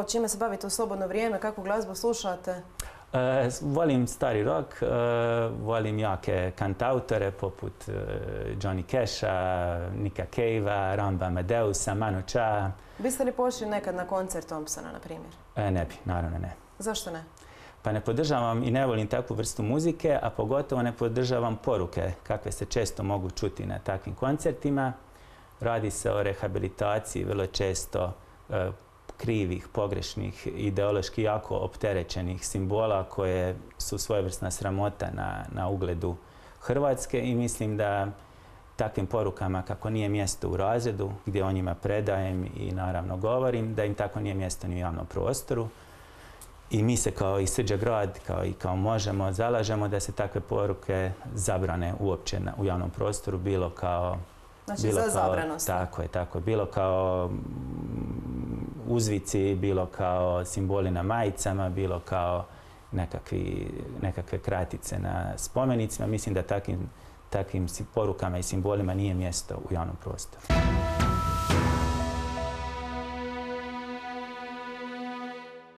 Čime se bavite u slobodno vrijeme? Kakvu glazbu slušate? Volim stari rock, volim jake kantautore poput Johnny Casha, Nicka Cavea, Ramba Amadeusa, Manu Chao. Biste li pošli nekad na koncert Thompsona, na primjer? Ne bi, naravno ne. Zašto ne? Pa ne podržavam i ne volim takvu vrstu muzike, a pogotovo ne podržavam poruke kakve se često mogu čuti na takvim koncertima. Radi se o rehabilitaciji vrlo često krivih, pogrešnih, ideološki jako opterećenih simbola koje su svojevrsna sramota na ugledu Hrvatske i mislim da takvim porukama kako nije mjesto u razredu gdje o njima predajem i naravno govorim, da im tako nije mjesto ni u javnom prostoru. I mi se kao i Srđa grad, kao Možemo, zalažemo da se takve poruke zabrane uopće u javnom prostoru, bilo kao... Znači za zabranost. Tako je, bilo kao uzvici, bilo kao simboli na majicama, bilo kao nekakve kratice na spomenicima. Mislim da takvim porukama i simbolima nije mjesto u javnom prostoru.